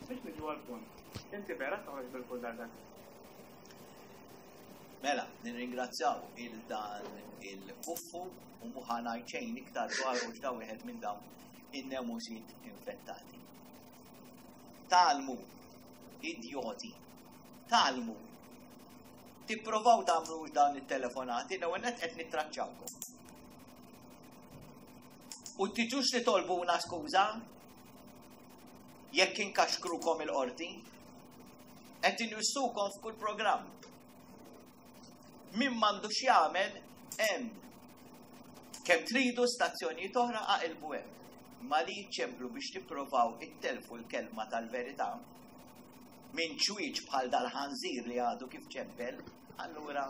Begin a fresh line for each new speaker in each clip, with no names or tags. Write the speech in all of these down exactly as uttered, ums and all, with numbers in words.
Biex niġu għall-punt, inti vera toħroġ bil-kull darba.
Mela, nirringrazzjaw il dan il-buffu u mhu ħa ngħid xejn iktar dwar u da wieħed minn dawn in-nemusiet infettati. Tgħallmu, idjoti, tgħallmu. Tipprovaw tagħmlu dawn it-telefonati, l-ewwel nett qed nittraċċawkom. U tiġux li tolbuna skuża jekk inkaxkrukom il-qorti, qed inwissukom f'kull programm. Min m'għandu x'jagħmel hemm. Kemm tridu stazzjonijiet oħra aqilbu hemm. Ma li ċemplu biex tipprovaw ittelfu l-kelma tal-verità minn ċwieċ bħal dal-ħanżir li għadu kif ċempel, allura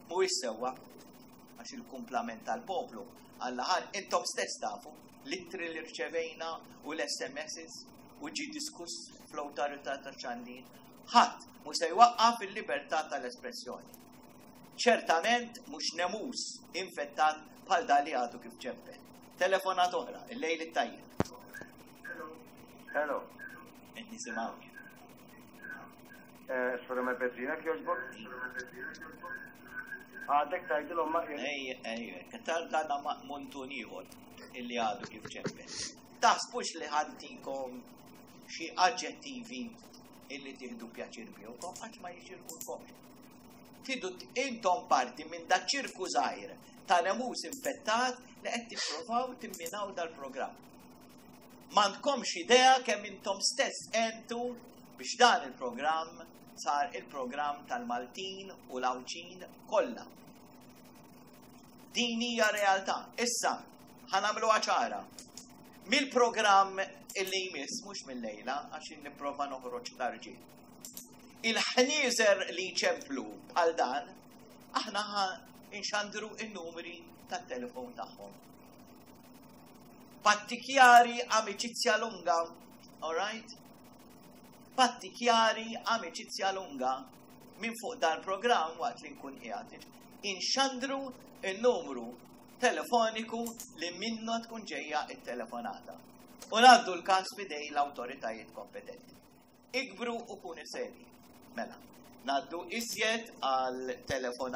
mhuwiex sewwa għax il-kumplament tal-poplu għall-aħħar intom stess tafu l-ittri li rċevejna u l-S M Ss u ġi diskuss fl-awtorità tax-xandir. Ħadd mhu se jwaqqaf il-libertà tal-espressjoni. Ċertament mhux nemus infettat bħal dal li għadu kif ċempel. Telefonat oħra, il-lejl it-tajjeb.
Hello.
Qed nisimgħu.
Eh, Sura me Bezzina kjoġbok? Għadek tajdilhom ma
Ej, ej, katar dana muntun ieħor illi għadu kif ċempel. Taħsbux li ħa ntikom xi aġġettivi illi tieħdu pjaċir bihom, għax ma jixirqulkomx. Tidu intom parti minn da ċirku żgħir ta' nemus infettat li qed tipprovaw timminaw dal-programm. M'għandkomx idea kemm intom stess entu biex dan il-programm sar il-programm tal-Maltin u l-Għawdxin kollha. Din hija realtà. Issa, ħa nagħmluha ċara. Mill-programm illi jmiss, mhux mill-lejla, għax nipprova noħroġ tarġi. Il-ħnieżer li ċemplu bħal dan, aħna ħa inxandru in-numri tat-telefon tagħhom. Patti chiari, amicizia lunga, all right? Patti chiari, amicizia lunga, minn fuq dal-programm waqt li nkun qiegħed. Inxandru il-numru telefoniku li minnu tkun ġejja it-telefonata. U ngħaddu l-każ f'idejn l-awtoritajiet kompetenti. Ikbru u kunu seri. Mela, ngħaddu iżjed għal telefonata.